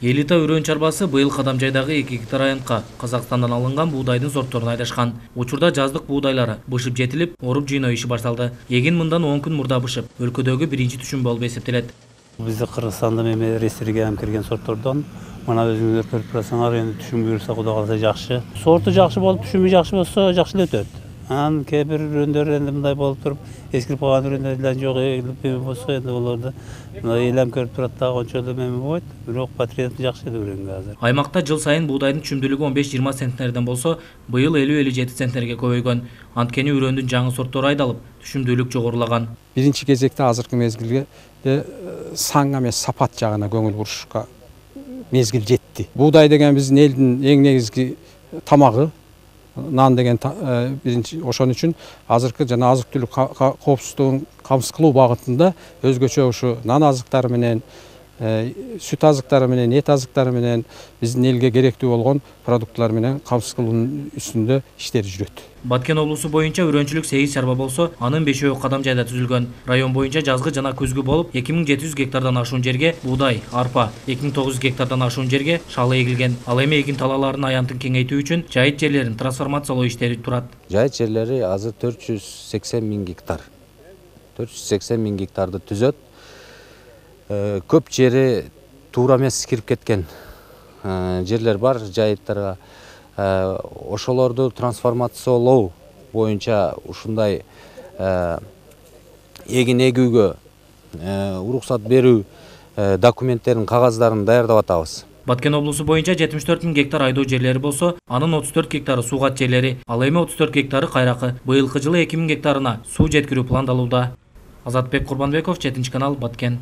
Элита өрөөн чарбасы быйыл Кадамжайдагы 2 гектар аянтка Казакстандан алынган буудайдын сортторун айдашкан. Учурда жаздык буудайлары бышып жетилип, оруп жыйноо иши башталды. Эгин мындан 10 күн мурда бышып, өлкөдөгү биринчи түшүм болуп эсептелет. Бизде Кыргызстанда эме ресторге кирген сорттордон мына өзүңүздөр көрүп турасыңар, эми түшүм буюрса Кудай кааласа жакшы. Сорту жакшы болуп, түшүмү жакшы болсо жакшы эле өтөт. Анан кээ бир үрөндөр энди мындай болуп туруп, эскирип калган үрөндөр жок эми болсо энди олорду элем көрүп турат да, ончо эле эме болбойт. Бирок патриот жакшы эле үрөнгө азыр. Аймакта жыл сайын буудайдын түшүмдүүлүгү 15-20 центнерден болсо, быйыл 50-57 центнерге көбөйгөн. Анткени үрөндүн жаңы сорттору айдалып, түшүмдүүлүк жогорулаган. Биринчи кезекте азыркы мезгилге сан эмес сапат жагына көңүл бурушка мезгил жетти. Буудай деген биздин элдин эң негизги тамагы. Нан деген биринчи ошон үчүн азыркы жана азык-түлүк коопсуздугун камсыз кылуу багытында өзгөчө ушу нан азыктары менен, сүт азыктары менен, эт азыктары менен биздин элге керектүү болгон продуктлар менен камсыз кылуунун үстүндө иштер жүрөт. Баткен облусу боюнча үрөнчүлүк 8 чарба болсо, анын 5-өө Кадамжайда түзүлгөн. Район боюнча жазгы жана күзгү болуп, 2700 гектардан ашуун жерге буудай, арпа, 2900 гектардан ашуун жерге шалы эгилген. Ал эми эгин талааларынын аянтын кеңейтүү үчүн жайыт жерлерин трансформациялоо иштери турат. Жайыт жерлери азыр 480 000 гектар. 480 000 гектарды түзөт. Көп жери туура эмес кирип кеткен жерлер бар жайыттарга. Ошолорду трансформациялоо боюнча ушундай эгин эгүүгө уруксат берүү документтерин, кагаздарын даярдап атабыз. Баткен облусу боюнча 74 000 гектар айдоо жерлери болсо, анын 34 гектары суугат жерлери, ал эми 34 гектары кайракы. Быйылкы жылы 2000 гектарына суу жеткирүү пландалууда. Азатбек Курбанбеков, 7 канал, Баткен.